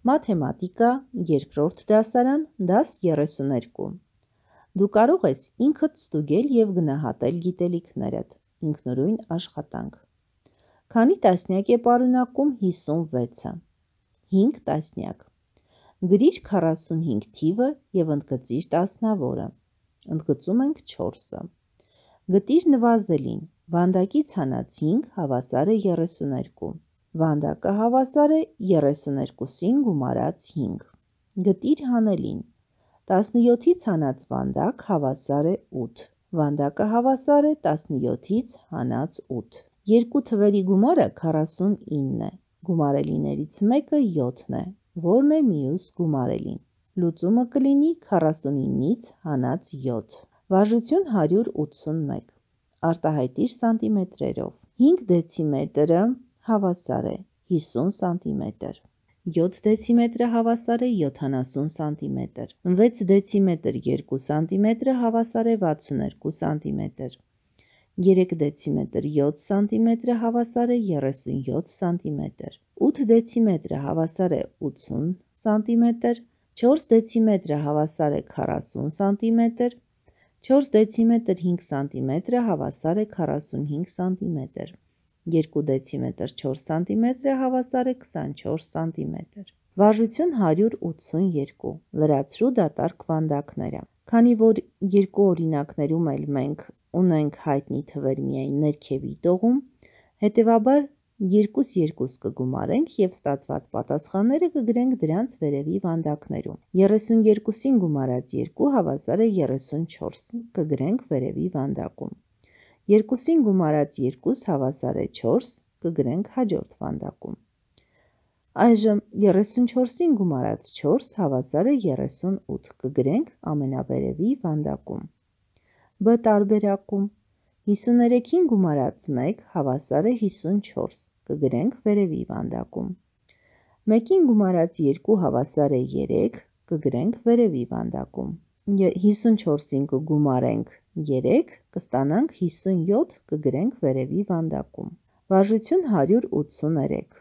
Մաթեմատիկա, երկրորդ դասարան, դաս 32։ Դու կարող ես ինքդ ստուգել և գնահատել գիտելիքներդ, ինքնուրույն աշխատանք։ Քանի տասնյակ է պարունակում 56-ը։ 5 տասնյակ։ Գրիր 45 թիվը և ընդգծիր տասնավորը։ Ընդգծում ենք 4-ը։ Գտիր նվազելին, վանդակից հանած 5 հավասար է 32։ Վանդակը հավասար է 32-ին գումարած 5։ Գտիր հանելին, 17-ից հանած վանդակ հավասար է 8։ Վանդակը հավասար է 17-ից հանած 8։ Երկու թվերի գումարը 49 է, գումարելիներից մեկը 7 է, որն է մյուս գումարելին։ Լուծումը կլինի 49-ից հանած 7։ Վարժություն 181։ Արտահայտիր սանտիմետրերով։ 5 դեցիմետրը հավասար է 50 սանտիմետր, 7 դեցիմետրը հավասար է 70 սանտիմետր, 6 դեցիմետր 2 սանտիմետրը հավասար է 62 սանտիմետր, 3 դեցիմետր 7 սանտիմետրը հավասար է 37 սանտիմետր, 8 դեցիմետրը հավասար է 80 սանտիմետր, 4 դեցիմետրը հավասար է 40 սանտիմետր, 4 դեցիմետր 5 սանտիմետրը հավասար է 45 սանտիմետր, 2 դեցիմետր 4 սանտիմետրը հավասար է 24 սանտիմետր։ Վարժություն 182։ Լրացրու դատարկ վանդակները։ Քանի որ երկու օրինակներում էլ մենք ունենք հայտնի թվեր միայն ներքևի տողում, հետևաբար 2 կգումարենք և ստացված պատասխանները կգրենք դրանց վերևի վանդակներում։ 32-ին գումարած 2 հավասար է 34, կգրենք վերևի վանդակում։ 2-ին գումարած 2 հավասար է 4, կգրենք հաջորդ վանդակում։ Այժմ 34-ին գումարած 4 հավասար է 38, կգրենք ամենավերևի վանդակում։ B տարբերակում 53-ին գումարած 1 հավասար է 54, կգրենք վերևի վանդակում։ 1-ին գումարած 2 հավասար է 3, կգրենք վերևի վանդակում։ 54-ին կգումարենք 3, կստանանք 57, կգրենք վերևի վանդակում։ Վարժություն 183։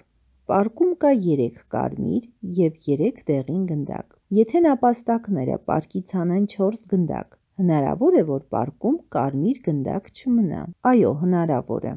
Պարկում կա 3 կարմիր և 3 դեղին գնդակ։ Եթե նապաստակները պարկից հանեն 4 գնդակ, հնարավոր է, որ պարկում կարմիր գնդակ չմնա։ Այո, հնարավոր է։